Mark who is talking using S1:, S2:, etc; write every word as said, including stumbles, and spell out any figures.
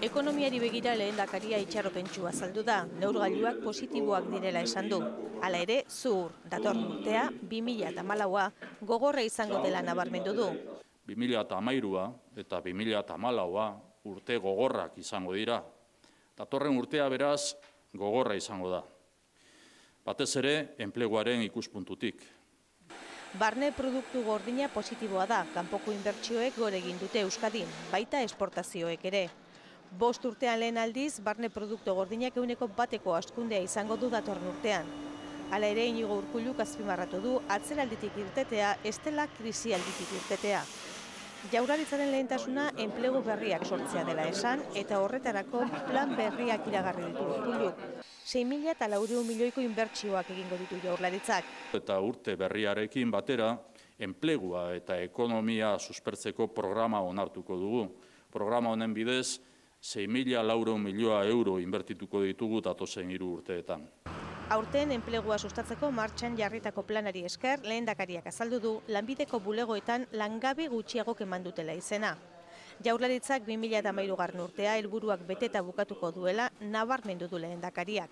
S1: Ekonomiari begira lehendakaria itxaropentsua azaldu da, neurgailuak positiboak direla esan du. Hala ere, zuhur, datorren urtea, bi mila hamalaua gogorra izango dela nabarmendu du.
S2: bi mila hamairua eta bi mila hamalaua urte gogorrak izango dira. Datorren urtea beraz gogorra izango da. Batez ere, enpleguaren ikuspuntutik.
S1: Barne produktu gordina positiboa da, kanpoko inbertsioek gore egin dute Euskadin, baita esportazioek ere. Bost urtean lehen aldiz, barne produktu gordinak ehuneko bateko hazkundea izango du datorren urtean. Hala ere, Inigo Urkulluk azpimarratu du atzeralditik irtetea, ez dela krisialditik irtetea. Jaurlaritzaren lehentasuna enplegu berriak sortzea dela esan, eta horretarako plan berriak iragarri ditu Urkulluk. sei mila laurehun milioiko inbertsioak egingo ditu Jaurlaritzak.
S2: Eta urte berriarekin batera, enplegua eta ekonomia suspertzeko programa onartuko dugu. Programa honen bidez, sei mila laurehun milioa euro inbertituko ditugu datozen hiru urteetan.
S1: Aurten enplegua sustatzeko martxan jarritako planari esker, lehendakariak azaldu du, lanbideko bulegoetan langabe gutxiagok eman dutela izena. Jaurlaritzak bi mila hamairugarren urtea helburuak beteta bukatuko duela nabarmendu du lehendakariak.